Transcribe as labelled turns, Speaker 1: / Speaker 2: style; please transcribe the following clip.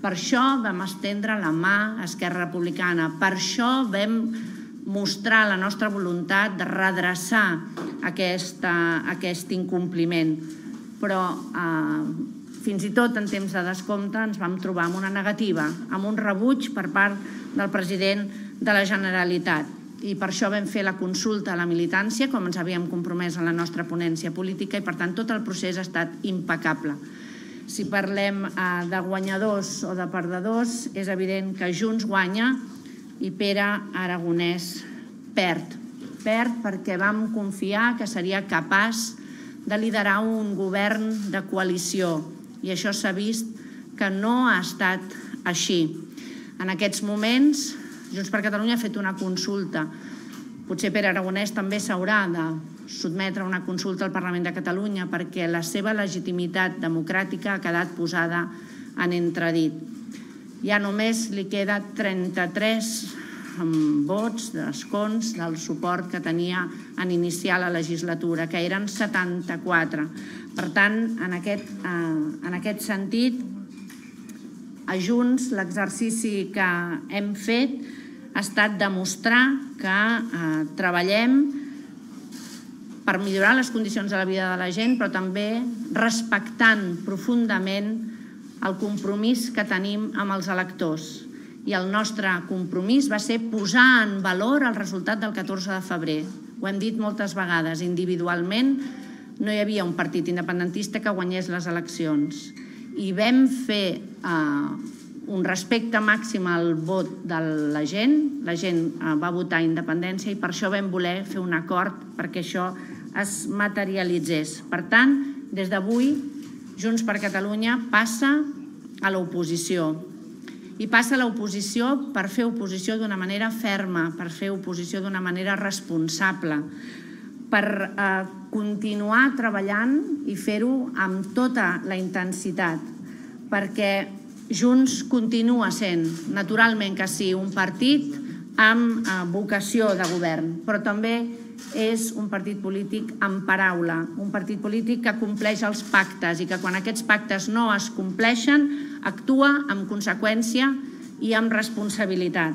Speaker 1: Per això vam estendre la mà a Esquerra Republicana, per això vam mostrar la nostra voluntat de redreçar aquest incompliment. Però fins i tot en temps de descompte ens vam trobar amb una negativa, amb un rebuig per part del president de la Generalitat. I per això vam fer la consulta a la militància, com ens havíem compromès en la nostra ponència política, i per tant tot el procés ha estat impecable. Si parlem de guanyadors o de perdedors, és evident que Junts guanya i Pere Aragonès perd. Perd perquè vam confiar que seria capaç de liderar un govern de coalició i això s'ha vist que no ha estat així. En aquests moments, Junts per Catalunya ha fet una consulta. Potser Pere Aragonès també s'haurà de sotmetre a una consulta al Parlament de Catalunya perquè la seva legitimitat democràtica ha quedat posada en entredit. Ja només li queda 33 vots d'escons del suport que tenia en iniciar la legislatura, que eren 74. Per tant, en aquest sentit, a Junts l'exercici que hem fet ha estat demostrar que treballem per millorar les condicions de la vida de la gent, però també respectant profundament el compromís que tenim amb els electors. I el nostre compromís va ser posar en valor el resultat del 14 de febrer. Ho hem dit moltes vegades, individualment no hi havia un partit independentista que guanyés les eleccions. I vam fer un respecte màxim al vot de la gent va votar independència i per això vam voler fer un acord perquè això es materialitzés. Per tant, des d'avui, Junts per Catalunya passa a l'oposició. I passa a l'oposició per fer oposició d'una manera ferma, per fer oposició d'una manera responsable, per continuar treballant i fer-ho amb tota la intensitat, perquè Junts continua sent, naturalment que sí, un partit amb vocació de govern, però també és un partit polític amb paraula, un partit polític que compleix els pactes i que quan aquests pactes no es compleixen actua amb conseqüència i amb responsabilitat.